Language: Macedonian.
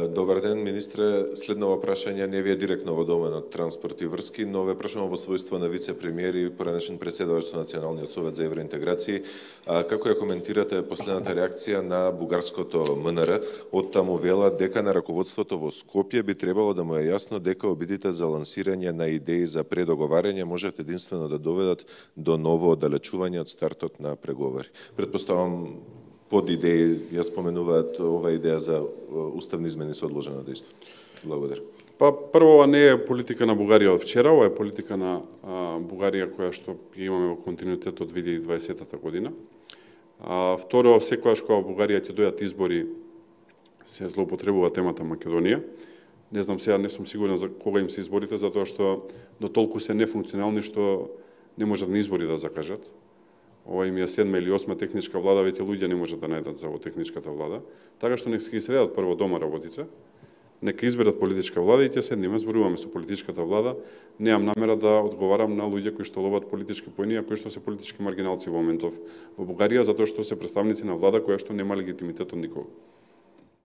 Добар ден, министре. Следново прашање не ви е директно во доменот транспорт и врски, но ве прашувам во својство на вице-премиер и поранешен председавач на Националниот совет за евроинтеграција. Како ја коментирате последната реакција на бугарското МНР? Од таму вела дека на раководството во Скопје би требало да му е јасно дека обидите за лансирање на идеи за предоговарање можат единствено да доведат до ново оддалечување од стартот на преговори. Предпоставам под идеи ја споменуваат ова идеја за уставни измени со одложено дејство. Благодарам. Прво, ова не е политика на Бугарија од вчера, ова е политика на Бугарија која што имаме во континуитет од 2020 година. Второ, секогаш кога Бугарија ќе дојдат избори, се злоупотребува темата Македонија. Не знам, сега не сум сигурен за кога им се изборите, затоа што до толку се нефункционални што не можат ни избори да закажат. Ова им е 7 или 8 техничка влада, веќе луѓе не можат да најдат за техничката влада. Така што нека се ги средат прво дома работите, нека изберат политичка влада и ќе седнеме, зборуваме со политичката влада. Немам намера да одговарам на луѓе кои што ловат политички поени, а кои што се политички маргиналци во моментов во Бугарија, затоа што се представници на влада која што нема легитимитет од никого.